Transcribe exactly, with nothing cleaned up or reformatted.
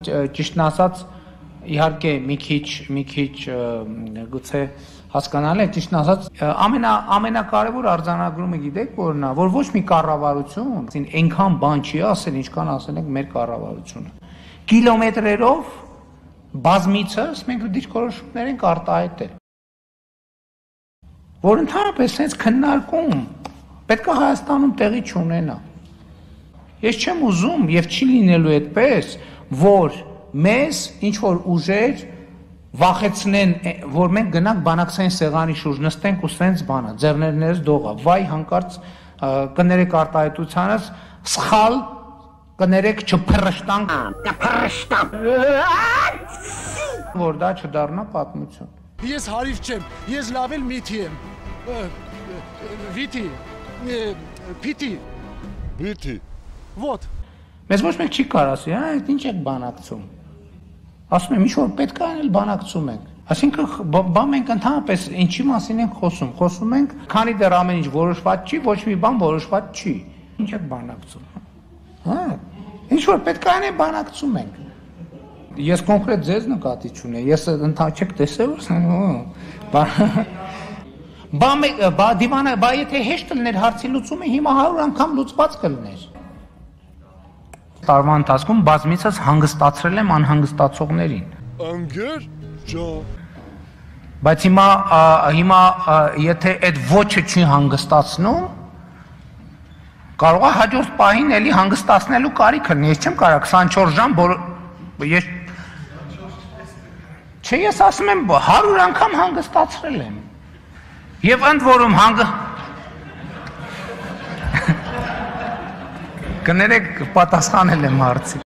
Ճիշտն ասած, իհարկե մի քիչ, մի քիչ գուցե հասկանալի է, ճիշտն ասած, ամենա ամենակարևոր արձանագրումը գիտեք որն է, որ ոչ մի կառավարություն այնքան բան չի ասել, ինչքան ասել ենք մեր կառավարությունը։ Կիլոմետրերով բազմիցս մենք դիրքորոշումներ ենք արտահայտել, որ ընդհանրապես sense քննարկում պետք է Հայաստանում տեղի չունենա։ Ես չեմ ուզում եւ չի լինելու այդպես, որ մեզ ինչ որ ուժեր վախեցնեն, որ մենք գնանք բանակցային սեղանի շուրջ նստենք ու սենց բանա, ձեռներներս դողա, վայ հանկարծ կներեք արտահայտությանս, սխալ կներեք չփռշտանք, կփռշտամ, որ դա չդառնա պատմություն։ Ես հարիվ չեմ, ես լավ էլ միթի եմ, վիթի, պիտի, Վիթի, ոտ։ Մեզ ոչ մեկ չի կար ասի, հա, այդ ինչ եք բանակցում։ Ասում եմ, ինչ որ պետք է անել բանակցում ենք։ Այսինքն բա մենք ընդհանրապես ինչի մասին ենք խոսում։ Խոսում ենք, քանի դեռ ամեն ինչ որոշված չի, ոչ մի բան որոշված չի։ Ինչ եք բանակցում։ Հա, ինչ որ պետք է անել բանակցում ենք։ Ես կոնկրետ ձեզ նկատի չունեմ։ Ես ընդհանրապես չեք տեսել, բա բա դիվանը, բա եթե հեշտ լիներ հարցի լուծումը, հիմա հարյուր անգամ լուծված կլիներ։ Տարվա ընթացքում բազմիցս հանգստացրել եմ անհանգստացողներին։ Անգեր, ջան։ Բայց հիմա հիմա եթե այդ ոչը չի հանգստացնում, կարող է հաջորդ պահին էլի հանգստացնելու կարիք լինի։ Ես չեմ կարող քսանչորս ժամ ես Չէ, ես ասում եմ հարյուր անգամ հանգստացրել եմ։ Եվ ընդ որում հանգ Կներեք պատասխանել եմ հարցի։